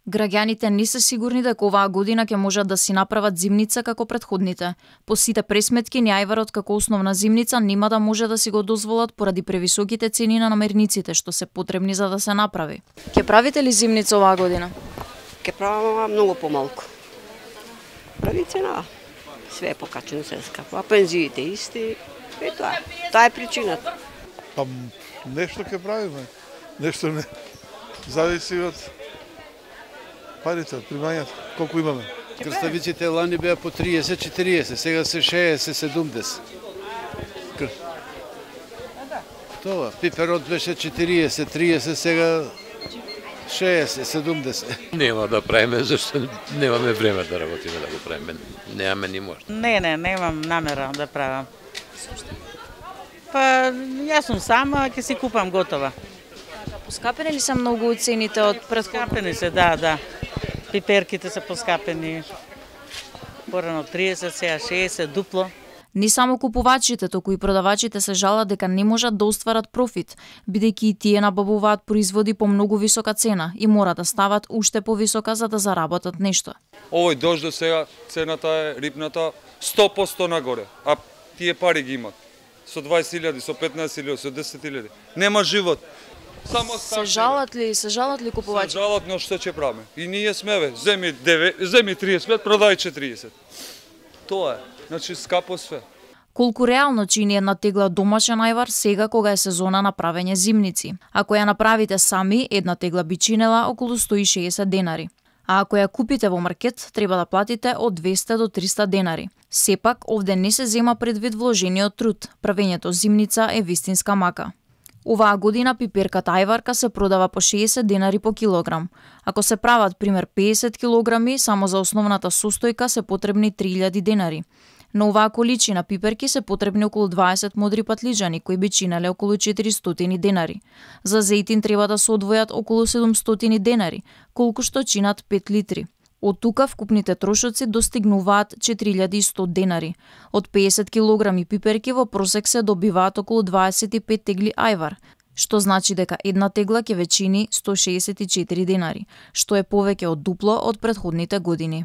Граѓаните не се сигурни дека оваа година ќе можат да си направат зимница како претходните. По сите пресметки, ни ајварот како основна зимница нема да може да си го дозволат поради превисоките цени на намерниците што се потребни за да се направи. Ќе правите ли зимница оваа година? Ќе правам многу помалку. Прави цена. Све е покачено, се скапува, пензиите исти. Тоа е причината. Па нешто ќе правиме. Нешто не. Зависи од парите, примањата, колку имаме. Крставиците лани беа по 30-40, сега се 60-70. Тоа, пиперот беше 40-30, сега 60-70. Нема да правиме, зашто немаме време да работиме да го правиме. Немаме ни можност. Не, немам намера да правам. Па, јас сум сама, ќе си купам готова. Поскапени ли се многу цените од претходно? Поскапени се, да. Пиперките се поскапени. Порано 30, сега 60, дупло. Не само купувачите, току и продавачите се жалат дека не можат да остварат профит, бидејќи и тие набавуваат производи по многу висока цена и мора да стават уште повисока за да заработат нешто. Овој дожд до сега цената е рибната 100% нагоре, а тие пари ги имат. Со 20.000, со 15.000, со 10.000. Нема живот. Само се жалат ли купувачи? Се жалат, но што ќе правиме? И ние смеве, земи 35, продај 40. Тоа е. Значи скапо све. Колку реално чини една тегла домашен ајвар сега кога е сезона на правење зимници? Ако ја направите сами, една тегла би чинела околу 160 денари. А ако ја купите во маркет, треба да платите од 200 до 300 денари. Сепак, овде не се зема предвид вложениот труд. Правењето зимница е вистинска мака. Оваа година пиперката ајварка се продава по 60 денари по килограм. Ако се прават пример 50 килограми, само за основната состојка се потребни 3000 денари. На оваа количина пиперки се потребни околу 20 модри патлиџани, кои би чинеле околу 400 денари. За зејтин треба да се одвојат околу 700 денари, колку што чинат 5 литри. Од тука вкупните трошоци достигнуваат 4100 денари. Од 50 килограми пиперки во просек се добиваат околу 25 тегли ајвар, што значи дека една тегла ќе ве чини 164 денари, што е повеќе од дупло од претходните години.